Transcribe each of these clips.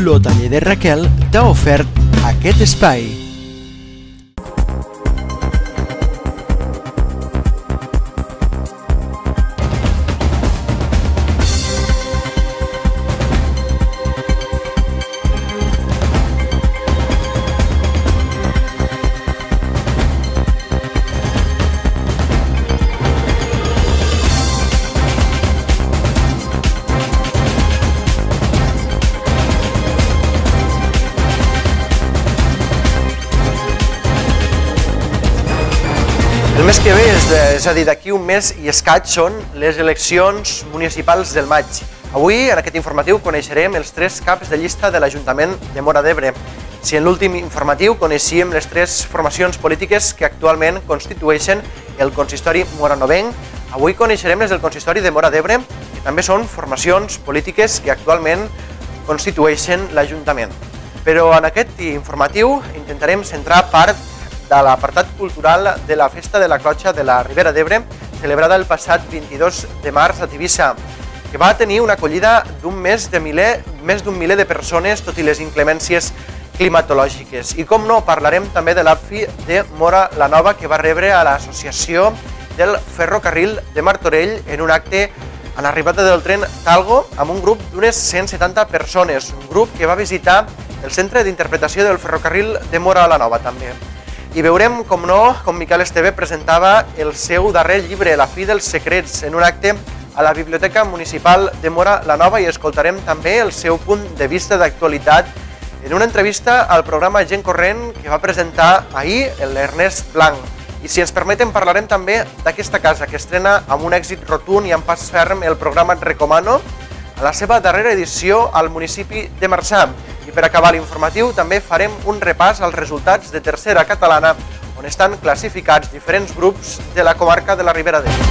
L'Hoteler de Raquel t'ha ofert aquest espai. El mes que ve, és a dir, d'aquí un mes i escaig, són les eleccions municipals del maig. Avui, en aquest informatiu, coneixerem els 3 caps de llista de l'Ajuntament de Móra d'Ebre. Si en l'últim informatiu coneixíem les 3 formacions polítiques que actualment constitueixen el consistori moranovenc, avui coneixerem les del consistori de Móra d'Ebre, que també són formacions polítiques que actualment constitueixen l'Ajuntament. Però en aquest informatiu intentarem centrar part de l'apartat cultural de la Festa de la Clotxa de la Ribera d'Ebre, celebrada el passat 22 de març a Tivissa, que va tenir una acollida més d'un miler de persones, tot i les inclemències climatològiques. I com no, parlarem també de l'APFI de Móra la Nova, que va rebre a l'Associació del Ferrocarril de Martorell en un acte en l'arribada del tren Talgo amb un grup d'unes 170 persones, un grup que va visitar el Centre d'Interpretació del Ferrocarril de Móra la Nova també. I veurem, com no, com Miquel Esteve presentava el seu darrer llibre, La fi dels secrets, en un acte a la Biblioteca Municipal de Móra la Nova, i escoltarem també el seu punt de vista d'actualitat en una entrevista al programa Gent Corrent que va presentar ahir l'Ernest Blanc. I si ens permeten parlarem també d'aquesta casa que estrena amb un èxit rotund i amb pas ferm el programa Et Recomano a la seva darrera edició al municipi de Marçà. I per acabar l'informatiu també farem un repàs als resultats de Tercera Catalana, on estan classificats diferents grups de la comarca de la Ribera d'Ebre.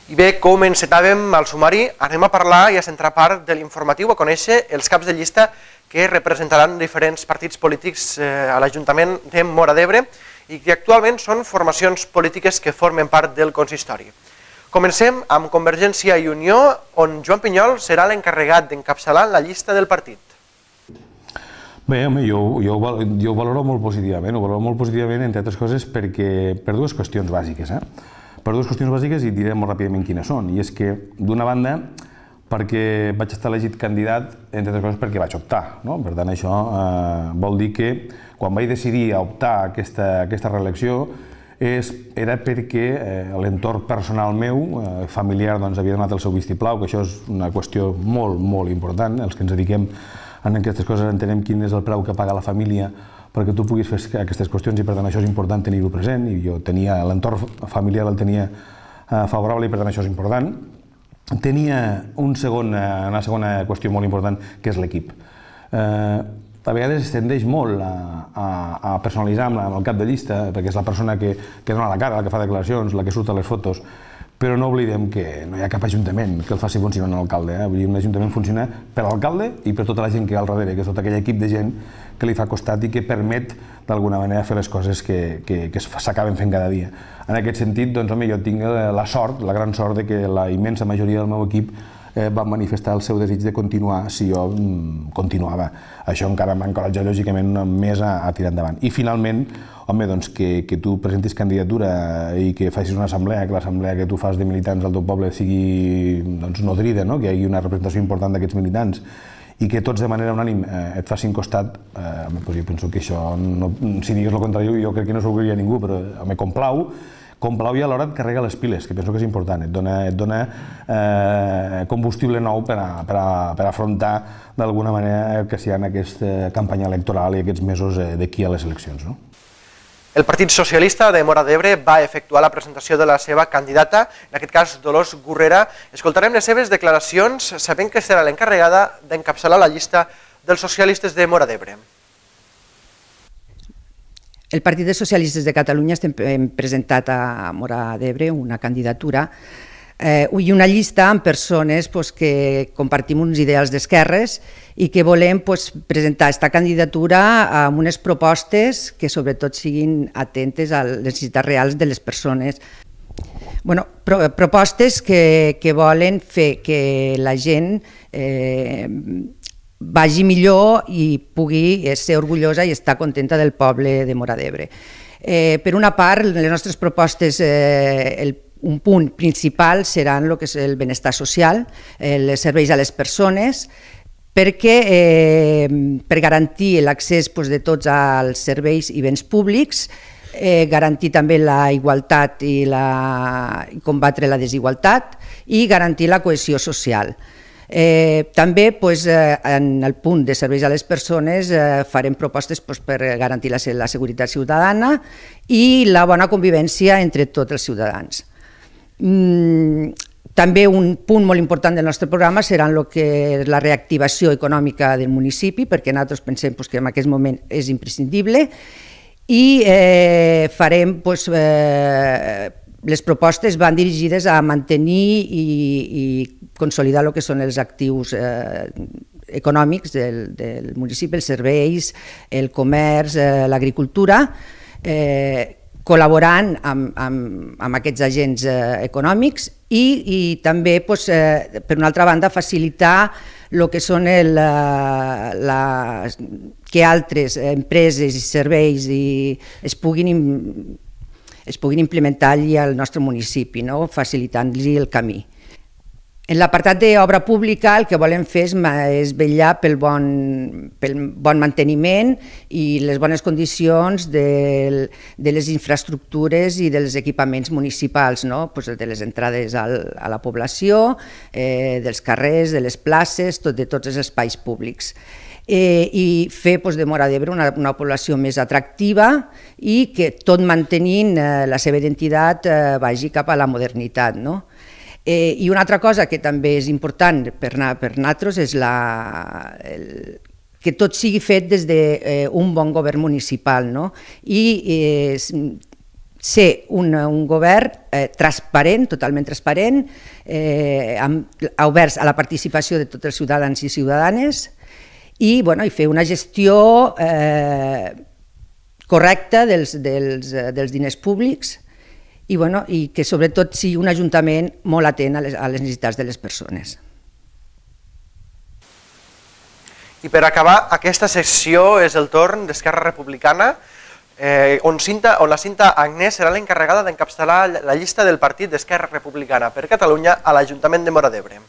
I bé, com encetàvem al sumari, anem a parlar i a centrar part de l'informatiu, a conèixer els caps de llista que representaran diferents partits polítics a l'Ajuntament de Móra d'Ebre i que actualment són formacions polítiques que formen part del consistori. Comencem amb Convergència i Unió, on Joan Pinyol serà l'encarregat d'encapçalar la llista del partit. Bé, home, jo ho valoro molt positivament, entre altres coses, per dues qüestions bàsiques. Per dues qüestions bàsiques, i diré molt ràpidament quines són. I és que, d'una banda, perquè vaig estar elegit candidat, entre altres coses perquè vaig optar. Per tant, això vol dir que quan vaig decidir a optar a aquesta reelecció era perquè l'entorn personal meu, familiar, havia donat el seu vistiplau, que això és una qüestió molt, molt important. Els que ens dediquem a aquestes coses entenem quin és el preu que paga la família perquè tu puguis fer aquestes qüestions, i per tant això és important tenir-ho present, i jo tenia l'entorn familiar, el tenia favorable, i per tant això és important. Tenia una segona qüestió molt important, que és l'equip. A vegades es tendeix molt a personalitzar amb el cap de llista, perquè és la persona que dona la cara, la que fa declaracions, la que surt a les fotos, però no oblidem que no hi ha cap ajuntament que el faci funcionar un alcalde. Un ajuntament funciona per l'alcalde i per tota la gent que hi ha al darrere, que és tot aquell equip de gent que li fa costat i que permet d'alguna manera fer les coses que s'acaben fent cada dia. En aquest sentit, doncs, home, jo tinc la sort, la gran sort, de que la immensa majoria del meu equip va manifestar el seu desig de continuar si jo continuava. Això encara m'encoratja lògicament més a tirar endavant. I finalment, home, doncs que tu presentis candidatura i que facis una assemblea, que l'assemblea que tu fas de militants del teu poble sigui nodrida, que hi hagi una representació important d'aquests militants i que tots de manera unànim et facin costat, jo penso que això, si digues el contrari, jo crec que no s'ho oblidaria ningú, però complau i alhora et carrega les piles, que penso que és important, et dona combustible nou per afrontar d'alguna manera que sigui en aquesta campanya electoral i aquests mesos d'aquí a les eleccions. El Partit Socialista de Móra d'Ebre va efectuar la presentació de la seva candidata, en aquest cas Dolors Gurrera. Escoltarem les seves declaracions, sabent que serà l'encarregada d'encapçalar la llista dels socialistes de Móra d'Ebre. El Partit dels Socialistes de Catalunya hem presentat a Móra d'Ebre una candidatura i una llista amb persones que compartim uns ideals d'esquerres i que volem presentar aquesta candidatura amb unes propostes que sobretot siguin atentes a les necessitats reals de les persones. Propostes que volen fer que la gent vagi millor i pugui ser orgullosa i estar contenta del poble de Móra d'Ebre. Per una part, les nostres propostes, un punt principal seran el que és el benestar social, els serveis a les persones, perquè per garantir l'accés de tots als serveis i béns públics, garantir també la igualtat i combatre la desigualtat i garantir la cohesió social. També en el punt de serveis a les persones farem propostes per garantir la seguretat ciutadana i la bona convivència entre tots els ciutadans. També un punt molt important del nostre programa serà la reactivació econòmica del municipi, perquè nosaltres pensem que en aquest moment és imprescindible, i farem, les propostes van dirigides a mantenir i consolidar el que són els actius econòmics del municipi, els serveis, el comerç, l'agricultura, col·laborant amb aquests agents econòmics i també, per una altra banda, facilitar el que són que altres empreses i serveis es puguin implementar allí al nostre municipi, facilitant-los el camí. En l'apartat d'obra pública el que volem fer és vetllar pel bon manteniment i les bones condicions de les infraestructures i dels equipaments municipals, de les entrades a la població, dels carrers, de les places, de tots els espais públics. I fer de Móra d'Ebre una població més atractiva i que tot mantenint la seva identitat vagi cap a la modernitat. I una altra cosa que també és important per nosaltres és que tot sigui fet des d'un bon govern municipal i ser un govern transparent, totalment transparent, oberts a la participació de tots els ciutadans i ciutadanes i fer una gestió correcta dels diners públics i que sobretot sigui un ajuntament molt atent a les necessitats de les persones. I per acabar aquesta sessió és el torn d'Esquerra Republicana, on la Cinta Agnès serà l'encarregada d'encapçalar la llista del partit d'Esquerra Republicana per Catalunya a l'Ajuntament de Móra d'Ebre.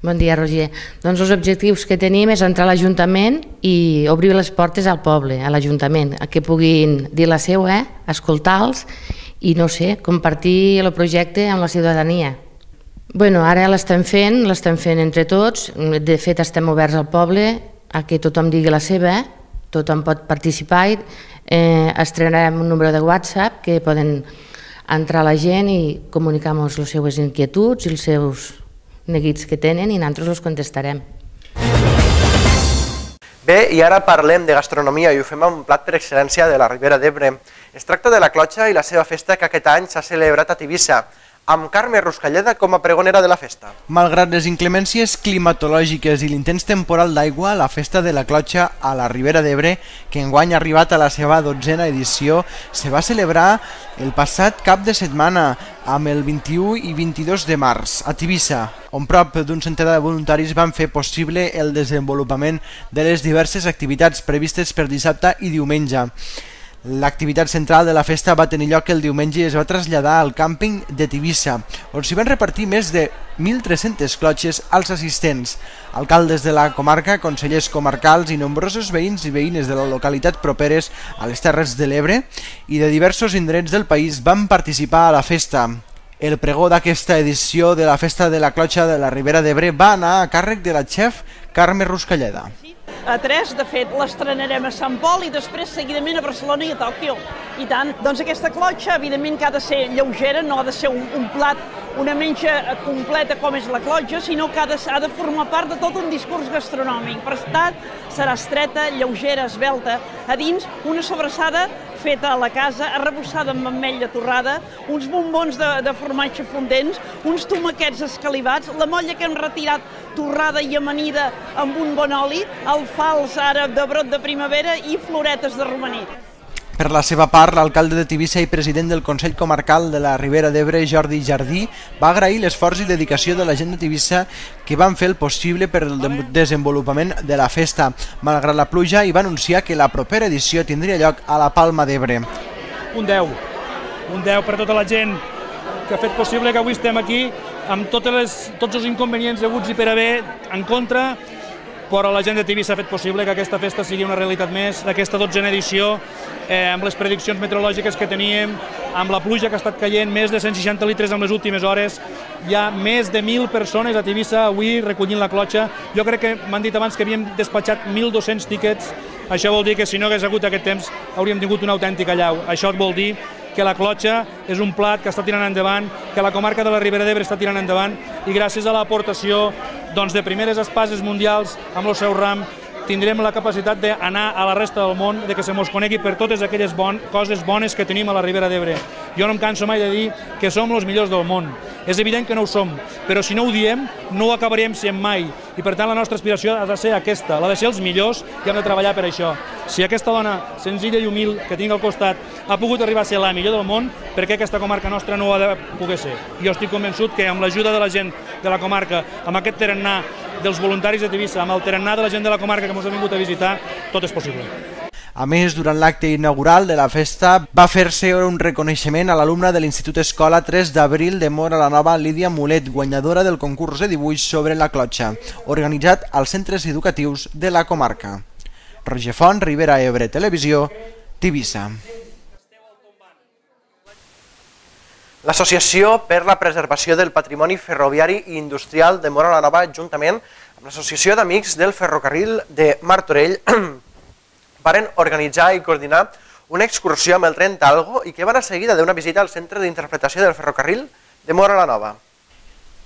Bon dia, Roger. Doncs els objectius que tenim és entrar a l'Ajuntament i obrir les portes al poble, a l'Ajuntament, que puguin dir la seva, escoltar-los i, no sé, compartir el projecte amb la ciutadania. Ara l'estem fent entre tots. De fet, estem oberts al poble a que tothom digui la seva, tothom pot participar. Estrenarem un número de WhatsApp que poden entrar la gent i comunicar-nos les seues inquietuds i els seus neguits que tenen i nosaltres els contestarem. Bé, i ara parlem de gastronomia i ho fem amb un plat per excel·lència de la Ribera d'Ebre. Es tracta de la clotxa i la seva festa que aquest any s'ha celebrat a Tivissa, amb Carme Ruscalleda com a pregonera de la festa. Malgrat les inclemències climatològiques i l'intens temporal d'aigua, la festa de la clotxa a la Ribera d'Ebre, que enguany ha arribat a la seva 12a edició, se va celebrar el passat cap de setmana, amb el 21 i 22 de març, a Tivissa, on prop d'un centenar de voluntaris van fer possible el desenvolupament de les diverses activitats previstes per dissabte i diumenge. L'activitat central de la festa va tenir lloc el diumenge i es va traslladar al càmping de Tivissa, on s'hi van repartir més de 1.300 clotxes als assistents. Alcaldes de la comarca, consellers comarcals i nombrosos veïns i veïnes de la localitat properes a les Terres de l'Ebre i de diversos indrets del país van participar a la festa. El pregó d'aquesta edició de la Festa de la Clotxa de la Ribera d'Ebre va anar a càrrec de la xef Carme Ruscalleda. A 3, de fet, l'estrenarem a Sant Pol i després seguidament a Barcelona i a Tòquio. I tant, doncs aquesta clotxa, evidentment que ha de ser lleugera, no ha de ser un plat, una menja completa com és la clotxa, sinó que ha de formar part de tot un discurs gastronòmic. Per tant, serà estreta, lleugera, esvelta, a dins una sobrassada feta a la casa, arrebossada amb ametlla torrada, uns bombons de formatge fondents, uns tomaquets escalivats, la molla que hem retirat torrada i amanida amb un bon oli, alfals ara de brot de primavera i floretes de romaní. Per la seva part, l'alcalde de Tivissa i president del Consell Comarcal de la Ribera d'Ebre, Jordi Jardí, va agrair l'esforç i dedicació de la gent de Tivissa que van fer el possible per al desenvolupament de la festa. Malgrat la pluja, i va anunciar que la propera edició tindria lloc a la Palma d'Ebre. Un 10 per tota la gent que ha fet possible que avui estem aquí amb tots els inconvenients haguts i per haver en contra, però la gent de Tivissa ha fet possible que aquesta festa sigui una realitat més, d'aquesta 12a edició, amb les prediccions meteorològiques que teníem, amb la pluja que ha estat caient, més de 160 litres en les últimes hores, hi ha més de 1.000 persones a Tivissa avui recollint la clotxa. Jo crec que m'han dit abans que havíem despatxat 1.200 tíquets, això vol dir que si no hagués hagut aquest temps hauríem tingut una autèntica allau. Això vol dir que la clotxa és un plat que està tirant endavant, que la comarca de la Ribera d'Ebre està tirant endavant i gràcies a l'aportació de primeres espases mundials amb el seu ram tindrem la capacitat d'anar a la resta del món, de que se mos conegui per totes aquelles coses bones que tenim a la Ribera d'Ebre. Jo no em canso mai de dir que som els millors del món. És evident que no ho som, però si no ho diem, no ho acabaríem sent mai. I per tant la nostra aspiració ha de ser aquesta, la de ser els millors i hem de treballar per això. Si aquesta dona senzilla i humil que tinc al costat ha pogut arribar a ser la millor del món, per què aquesta comarca nostra no ho ha de poder ser? Jo estic convençut que amb l'ajuda de la gent de la comarca, amb aquest tarannà dels voluntaris de Tivissa, amb el tarannà de la gent de la comarca que ens ha vingut a visitar, tot és possible. A més, durant l'acte inaugural de la festa va fer-se un reconeixement a l'alumna de l'Institut Escola 3 d'Abril de Móra la Nova, Lídia Mulet, guanyadora del concurs de dibuix sobre la clotxa, organitzat als centres educatius de la comarca. Roger Font, Ribera Ebre Televisió, Tivissa. L'Associació per la Preservació del Patrimoni Ferroviari i Industrial de Móra la Nova, juntament amb l'Associació d'Amics del Ferrocarril de Martorell, varen organitzar i coordinar una excursió amb el tren Talgo i que va anar seguida d'una visita al Centre d'Interpretació del Ferrocarril de Móra la Nova.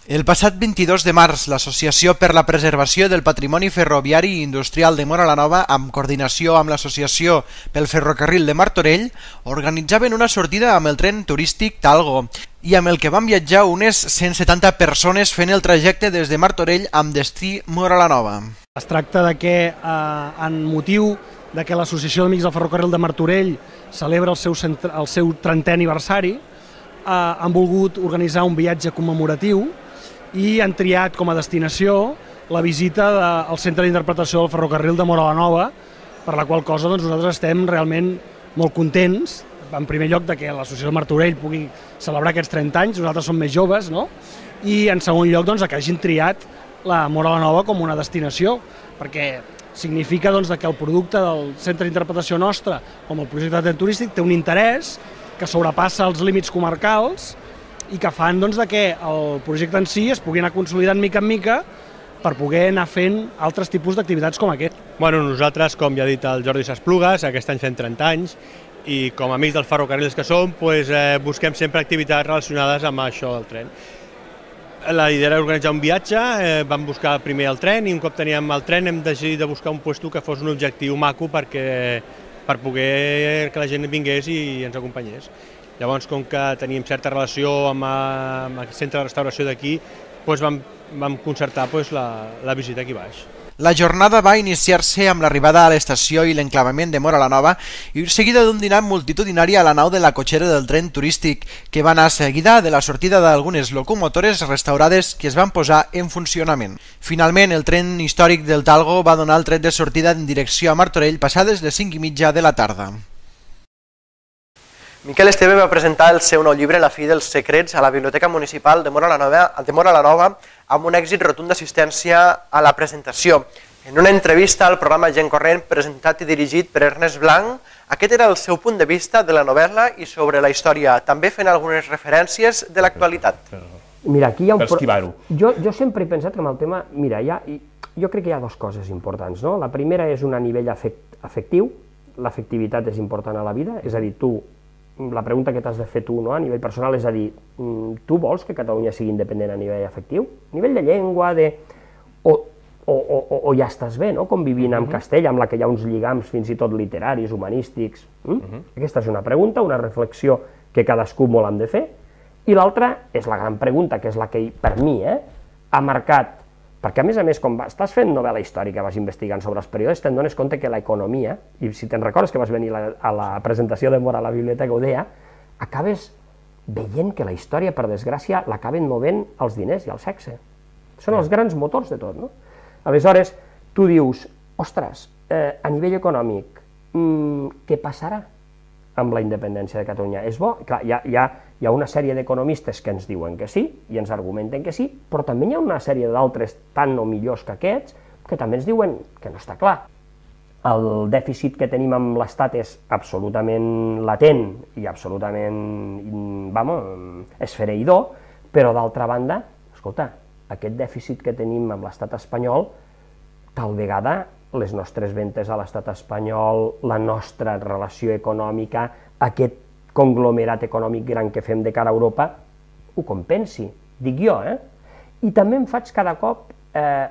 El passat 22 de març, l'Associació per la Preservació del Patrimoni Ferroviari i Industrial de Móra la Nova, amb coordinació amb l'Associació pel Ferrocarril de Martorell, organitzaven una sortida amb el tren turístic Talgo i amb el que van viatjar unes 170 persones fent el trajecte des de Martorell amb destí Móra la Nova. Es tracta de que, en motiu de que l'Associació d'Amics del Ferrocarril de Martorell celebra el seu 30è aniversari, han volgut organitzar un viatge commemoratiu i han triat com a destinació la visita al Centre d'Interpretació del Ferrocarril de Móra la Nova, per la qual cosa nosaltres estem realment molt contents, en primer lloc que l'Associació de Martorell pugui celebrar aquests 30 anys, nosaltres som més joves, no? I en segon lloc que hagin triat la Móra la Nova com una destinació, perquè significa que el producte del Centre d'Interpretació nostre, com el projecte de tren turístic, té un interès que sobrepassa els límits comarcals i que fan que el projecte en si es pugui anar consolidant mica en mica per poder anar fent altres tipus d'activitats com aquest. Bueno, nosaltres, com ja ha dit el Jordi Sasplugues, aquest any fem 30 anys i com a amics dels ferrocarrils que som, busquem sempre activitats relacionades amb això del tren. La idea era organitzar un viatge, vam buscar primer el tren i un cop teníem el tren hem decidit de buscar un lloc que fos un objectiu maco per poder que la gent vingués i ens acompanyés. Llavors, com que teníem certa relació amb el centre de restauració d'aquí, vam concertar la visita aquí baix. La jornada va iniciar-se amb l'arribada a l'estació i l'enclavament de Móra la Nova i seguida d'un dinar multitudinari a la nau de la cotxera del tren turístic, que va anar seguida de la sortida d'algunes locomotores restaurades que es van posar en funcionament. Finalment, el tren històric del Talgo va donar el tret de sortida en direcció a Martorell passades les 5:30 de la tarda. Miquel Esteve va presentar el seu nou llibre La fi dels secrets a la Biblioteca Municipal de Móra la Nova amb un èxit rotund d'assistència a la presentació. En una entrevista al programa Gent Corrent, presentat i dirigit per Ernest Blanc, aquest era el seu punt de vista de la novel·la i sobre la història, també fent algunes referències de l'actualitat. Mira, aquí hi ha jo sempre he pensat que amb el tema, mira, jo crec que hi ha dues coses importants, no? La primera és a nivell afectiu, l'afectivitat és important a la vida, és a dir, la pregunta que t'has de fer tu a nivell personal és a dir, tu vols que Catalunya sigui independent a nivell afectiu? A nivell de llengua, o o ja estàs bé, no?, convivint amb Castella, amb la que hi ha uns lligams fins i tot literaris, humanístics. Aquesta és una pregunta, una reflexió que cadascú molt hem de fer, i l'altra és la gran pregunta, que és la que per mi ha marcat, perquè a més, quan estàs fent novel·la històrica, vas investigant sobre els períodes, te'n dones compte que l'economia, i si te'n recordes que vas venir a la presentació de Mora a la biblioteca, ho deia, acabes veient que la història, per desgràcia, l'acaben movent els diners i el sexe. Són els grans motors de tot, no? Aleshores, tu dius, ostres, a nivell econòmic, què passarà amb la independència de Catalunya? És bo? Clar, hi ha una sèrie d'economistes que ens diuen que sí, i ens argumenten que sí, però també hi ha una sèrie d'altres tan o millors que aquests, que també ens diuen que no està clar. El dèficit que tenim amb l'Estat és absolutament latent i absolutament, esfereïdor, però d'altra banda, escolta, aquest dèficit que tenim amb l'estat espanyol, tal vegada les nostres ventes a l'estat espanyol, la nostra relació econòmica, aquest conglomerat econòmic gran que fem de cara a Europa, ho compensi, dic jo, I també em faig cada cop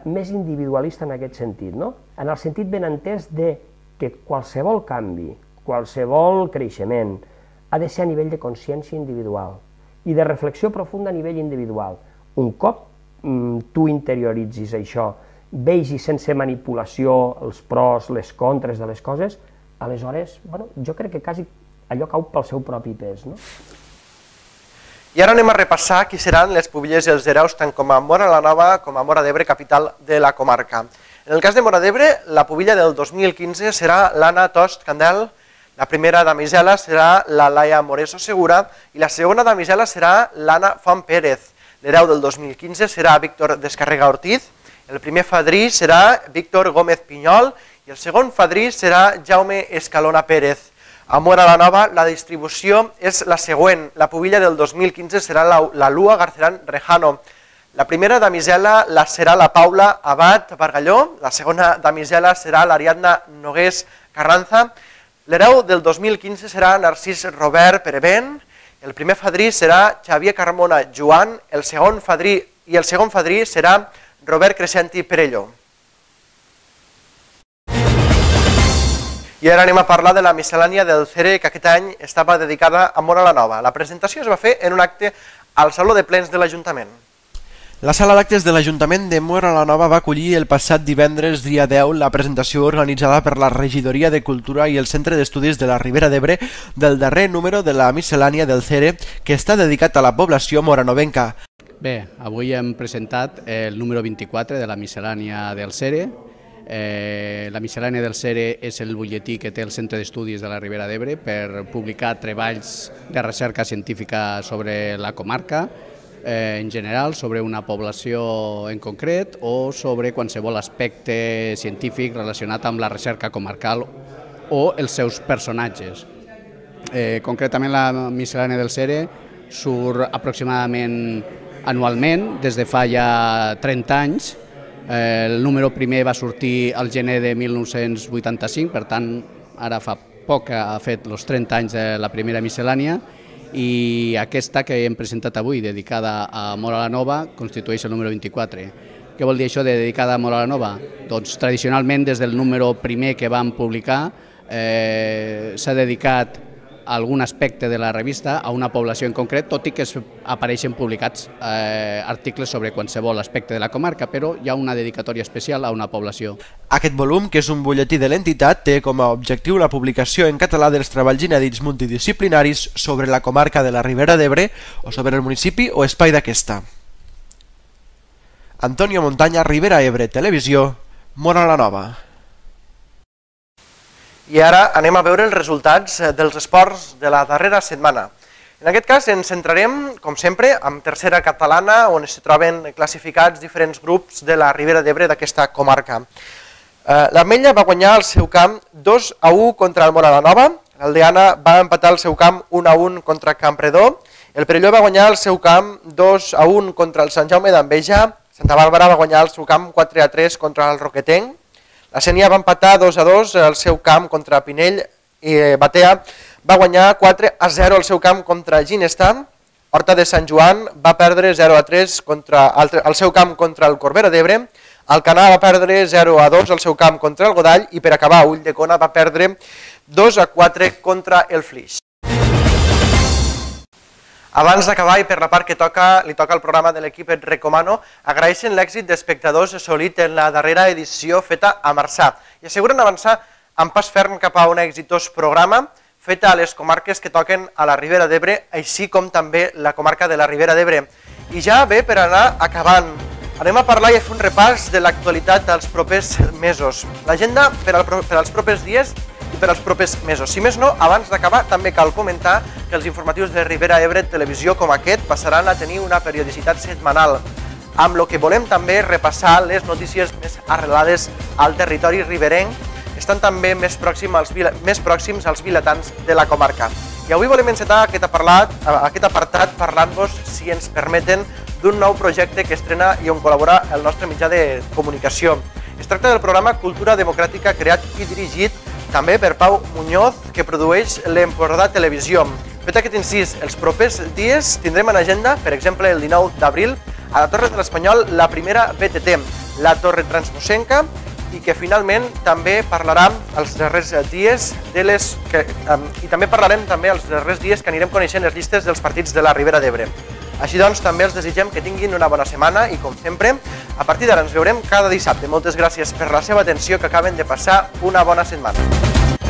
més individualista en aquest sentit, no? En el sentit ben entès de que qualsevol canvi, qualsevol creixement, ha de ser a nivell de consciència individual i de reflexió profunda a nivell individual. Un cop tu interioritzis això, vegis sense manipulació els pros, les contres de les coses, aleshores, jo crec que quasi allò cau pel seu propi pes, no? I ara anem a repassar qui seran les pubilles i els hereus tant com a Móra la Nova com a Móra d'Ebre, capital de la comarca. En el cas de Móra d'Ebre, la pubilla del 2015 serà l'Anna Tost Candel, la primera damisela serà la Laia Moreso Segura i la segona damisela serà l'Anna Font Pérez. L'hereu del 2015 serà Víctor Descarrega Ortiz, el primer fadrí serà Víctor Gómez Pinyol i el segon fadrí serà Jaume Escalona Pérez. A Móra la Nova la distribució és la següent. La pubilla del 2015 serà la Lua Garcerán Rejano. La primera damisela serà la Paula Abad Bargalló, la segona damisela serà l'Ariadna Nogués Carranza, l'hereu del 2015 serà Narcís Robert Perevent, el primer fadrí serà Xavier Carmona Joan, el segon fadrí serà Robert Crescenti Perelló. I ara anem a parlar de la miscel·lània del CERE, que aquest any estava dedicada a Móra la Nova. La presentació es va fer en un acte al Saló de Plens de l'Ajuntament. La sala d'actes de l'Ajuntament de Móra la Nova va acollir el passat divendres, dia 10, la presentació organitzada per la Regidoria de Cultura i el Centre d'Estudis de la Ribera d'Ebre del darrer número de la miscel·lània del CERE, que està dedicat a la població moranovenca. Bé, avui hem presentat el número 24 de la miscel·lània del CERE. La miscel·lània del CERE és el butlletí que té el Centre d'Estudis de la Ribera d'Ebre per publicar treballs de recerca científica sobre la comarca, en general, sobre una població en concret o sobre qualsevol aspecte científic relacionat amb la recerca comarcal o els seus personatges. Concretament, la miscel·lània del CERE surt aproximadament anualment, des de fa ja 30 anys. El número primer va sortir al gener de 1985, per tant, ara fa poc que ha fet els 30 anys de la primera miscel·lània, i aquesta que hem presentat avui, dedicada a Móra la Nova, constitueix el número 24. Què vol dir això de dedicada a Móra la Nova? Doncs tradicionalment, des del número primer que vam publicar, s'ha dedicat algun aspecte de la revista a una població en concret, tot i que apareixen publicats articles sobre qualsevol aspecte de la comarca, però hi ha una dedicatòria especial a una població. Aquest volum, que és un butlletí de l'entitat, té com a objectiu la publicació en català dels treballs inèdits multidisciplinaris sobre la comarca de la Ribera d'Ebre o sobre el municipi o espai d'aquesta. Antonio Montaña, Ribera Ebre, Televisió, Móra la Nova. I ara anem a veure els resultats dels esports de la darrera setmana. En aquest cas ens centrarem, com sempre, en tercera catalana, on es troben classificats diferents grups de la Ribera d'Ebre d'aquesta comarca. L'Ametlla va guanyar el seu camp 2-1 contra el Móra la Nova, l'Aldeana va empatar el seu camp 1-1 contra Campredó, el Perelló va guanyar el seu camp 2-1 contra el Sant Jaume d'Enveja, Santa Bàrbara va guanyar el seu camp 4-3 contra el Roquetenc, la Sénia va empatar 2-2 al seu camp contra Pinell i Batea va guanyar 4-0 al seu camp contra Ginestà. Horta de Sant Joan va perdre 0-3 al seu camp contra el Corbera d'Ebre. Alcanar va perdre 0-2 al seu camp contra el Godall i per acabar Ulldecona va perdre 2-4 contra el Flix. Abans d'acabar i per la part que li toca al programa de l'equip et recomano, agraeixen l'èxit d'espectadors assolit en la darrera edició feta a Marçà i asseguren avançar amb pas ferm cap a un exitós programa feta a les comarques que toquen a la Ribera d'Ebre, així com també la comarca de la Ribera d'Ebre. I ja ve per anar acabant. Anem a parlar i a fer un repàs de l'actualitat dels propers mesos. L'agenda per als propers dies i per als propers mesos. Si més no, abans d'acabar també cal comentar que els informatius de Ribera Ebre Televisió com aquest passaran a tenir una periodicitat setmanal, amb el que volem també repassar les notícies més arrelades al territori riberenc, estan també més pròxims als vilatans de la comarca. I avui volem encetar aquest apartat parlant-vos, si ens permeten, d'un nou projecte que estrena i on col·labora el nostre mitjà de comunicació. Es tracta del programa Cultura Democràtica creat i dirigit també per Pau Muñoz, que produeix l'Empordà Televisió. Fet aquest incís, els propers dies tindrem en agenda, per exemple, el 19 d'abril, a la Torre de l'Espanyol, la primera BTT, la Torre Transmosenca, i que finalment també parlarà els darrers dies i també parlarem també els darrers dies que anirem coneixent les llistes dels partits de la Ribera d'Ebre. Així doncs, també els desitgem que tinguin una bona setmana i, com sempre, a partir d'ara ens veurem cada dissabte. Moltes gràcies per la seva atenció, que acaben de passar una bona setmana.